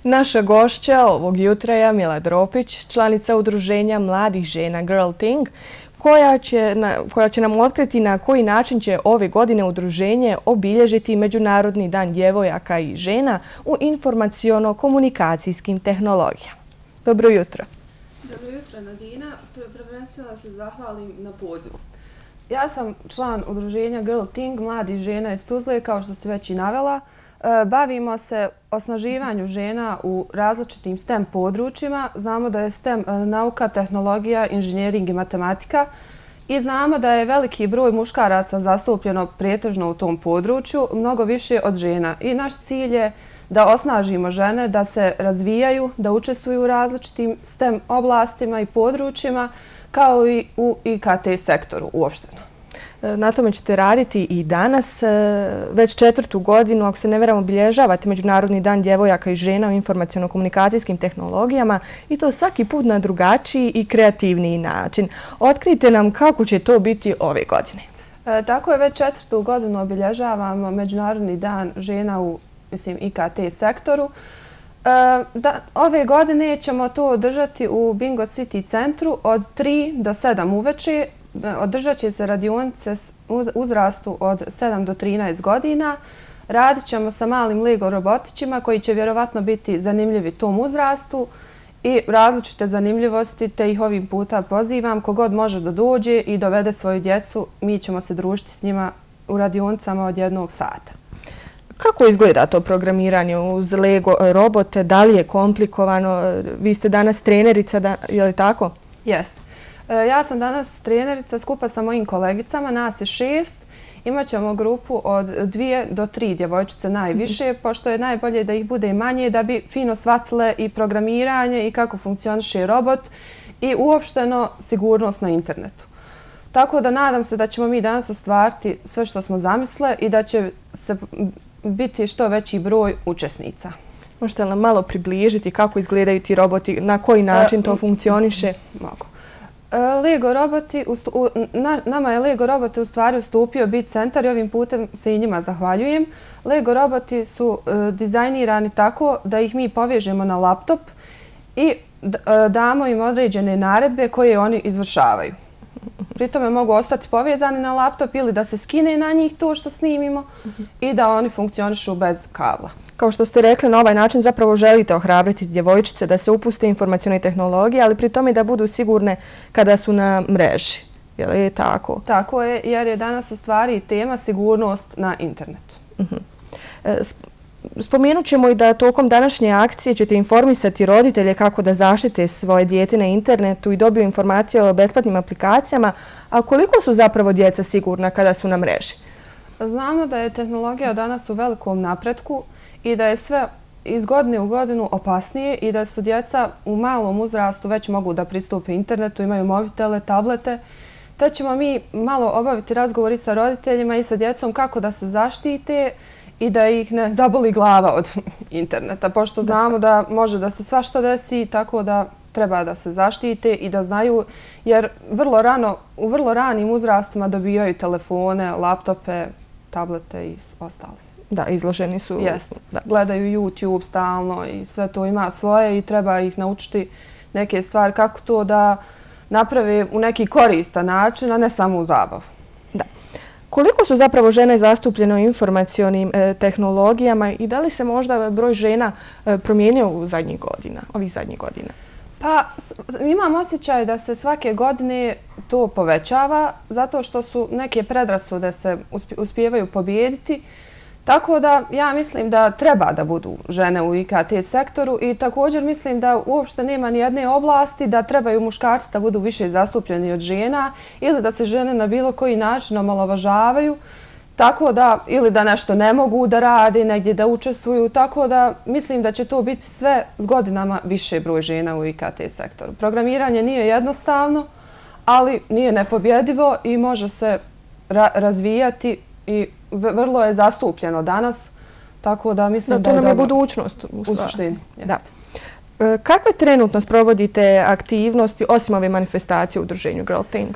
Naša gošća ovog jutra je Mila Dropić, članica udruženja mladih žena Girl Thing, koja će nam otkriti na koji način će ove godine udruženje obilježiti Međunarodni dan djevojaka i žena u informaciono-komunikacijskim tehnologijama. Dobro jutro. Dobro jutro, Nadina. Prvenstveno se zahvalim na pozivu. Ja sam član udruženja Girl Thing, mladih žena iz Tuzle, kao što si već i navela. Bavimo se osnaživanju žena u različitim STEM područjima. Znamo da je STEM nauka, tehnologija, inženjering i matematika i znamo da je veliki broj muškaraca zastupljeno pretežno u tom području, mnogo više od žena. I naš cilj je da osnažimo žene, da se razvijaju, da učestvuju u različitim STEM oblastima i područjima, kao i u IKT sektoru uopšteno. Na tome ćete raditi i danas. Već 4. godinu, ako se ne varam, obilježavate Međunarodni dan djevojaka i žena u informaciono-komunikacijskim tehnologijama i to svaki put na drugačiji i kreativniji način. Otkrijte nam kako će to biti ove godine. Tako je, već 4. godinu obilježavamo Međunarodni dan žena u IKT sektoru. Ove godine ćemo to održati u Bingo City centru od 3 do 7 uveče. Održat će se radionice uzrastu od 7 do 13 godina. Radit ćemo sa malim Lego robotićima koji će vjerovatno biti zanimljivi tom uzrastu i različite zanimljivosti, te ih ovim puta pozivam. Kogod može da dođe i dovede svoju djecu, mi ćemo se družiti s njima u radionicama od 1 sata. Kako izgleda to programiranje uz Lego robote? Da li je komplikovano? Vi ste danas trenerica, je li tako? Jeste. Ja sam danas trenerica skupa sa mojim kolegicama, nas je 6. Imaćemo grupu od 2 do 3 djevojčice najviše, pošto je najbolje da ih bude i manje, da bi fino shvatile i programiranje i kako funkcioniše robot i uopšteno sigurnost na internetu. Tako da nadam se da ćemo mi danas ostvariti sve što smo zamisle i da će se biti što veći broj učesnica. Možete li nam malo približiti kako izgledaju ti roboti, na koji način to funkcioniše? Mogu. Lego roboti, nama je Lego robote u stvari ustupio Bit Centar i ovim putem se i njima zahvaljujem. Lego roboti su dizajnirani tako da ih mi povežemo na laptop i damo im određene naredbe koje oni izvršavaju. Pri tome mogu ostati povezani na laptop ili da se skine na njih to što snimimo i da oni funkcionišu bez kabla. Kao što ste rekli, na ovaj način zapravo želite ohrabriti djevojčice da se upuste informacione tehnologije, ali pri tome da budu sigurne kada su na mreži. Je li tako? Tako je, jer je danas u stvari tema sigurnost na internetu. Spomenut ćemo i da tokom današnje akcije ćete informisati roditelje kako da zaštite svoje dijete na internetu i dobiju informacije o besplatnim aplikacijama, a koliko su zapravo djeca sigurna kada su na mreži? Znamo da je tehnologija danas u velikom napretku i da je sve iz godine u godinu opasnije i da su djeca u malom uzrastu već mogu da pristupe internetu, imaju mobitele, tablete, te ćemo mi malo obaviti razgovori sa roditeljima i sa djecom kako da se zaštite i da ih ne zaboli glava od interneta, pošto znamo da može da se svašta desi, tako da treba da se zaštite i da znaju, jer u vrlo ranim uzrastima dobijaju telefone, laptope, tablete i ostale. Da, izloženi su. Jeste. Gledaju YouTube stalno i sve to ima svoje i treba ih naučiti neke stvari kako to da naprave u neki koristan način, a ne samo u zabavu. Da. Koliko su zapravo žene zastupljene u informacionim tehnologijama i da li se možda broj žena promijenio u ovih zadnjih godina? Pa imam osjećaj da se svake godine to povećava zato što su neke predrasude se uspijevaju pobijediti. Tako da ja mislim da treba da budu žene u IKT sektoru i također mislim da uopšte nema ni jedne oblasti da trebaju muškarci da budu više zastupljeni od žena ili da se žene na bilo koji način omalovažavaju, tako da ili da nešto ne mogu da rade, negdje da učestvuju, tako da mislim da će to biti sve s godinama više broj žena u IKT sektoru. Programiranje nije jednostavno, ali nije nepobjedivo i može se razvijati i vrlo je zastupljeno danas, tako da mislim da je to nam je dobro. budućnost U suštini. Da. Kakve trenutno sprovodite aktivnosti osim ove manifestacije u udruženju Girl Thing?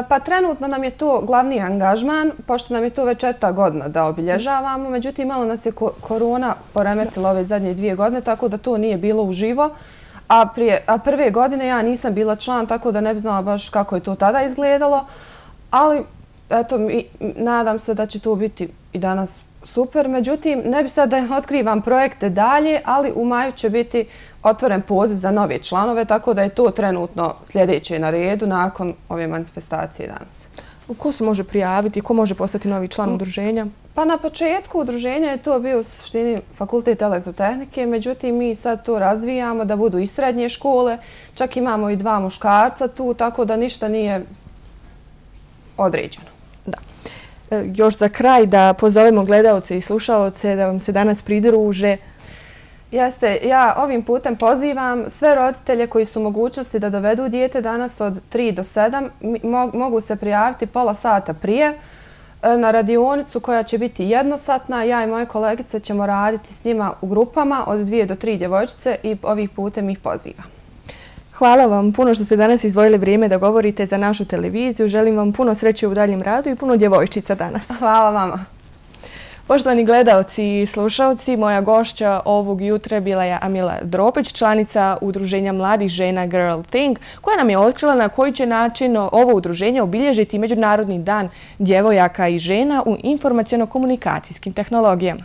Pa trenutno nam je to glavni angažman, pošto nam je to već 4. godina da obilježavamo. Međutim, malo nas je korona poremetila ove zadnje 2 godine, tako da to nije bilo uživo. A prve godine ja nisam bila član, tako da ne bi znala baš kako je to tada izgledalo. Ali, eto, nadam se da će to biti i danas super. Međutim, ne bi sad da otkrivam projekte dalje, ali u maju će biti otvoren poziv za nove članove, tako da je to trenutno sljedeće na redu nakon ove manifestacije danas. Ko se može prijaviti? Ko može postati novi član udruženja? Pa na početku udruženja je to bio u suštini Fakultet elektrotehnike, međutim mi sad to razvijamo da budu i srednje škole, čak imamo i 2 muškarca tu, tako da ništa nije određeno. Da. Još za kraj da pozovemo gledalce i slušalce da vam se danas pridruže. Jeste, ja ovim putem pozivam sve roditelje koji su u mogućnosti da dovedu dijete danas od 3 do 7, mogu se prijaviti pola sata prije na radionicu koja će biti jednosatna. Ja i moje kolegice ćemo raditi s njima u grupama od 2 do 3 djevojčice i ovih putem ih pozivam. Hvala vam puno što ste danas izdvojili vrijeme da govorite za našu televiziju. Želim vam puno sreće u daljem radu i puno djevojčica danas. Hvala vama. Poštovani gledalci i slušalci, moja gošća ovog jutra bila je Amila Dropić, članica udruženja mladih žena Girl Thing, koja nam je otkrila na koji će način ovo udruženje obilježiti Međunarodni dan djevojaka i žena u informaciono-komunikacijskim tehnologijama.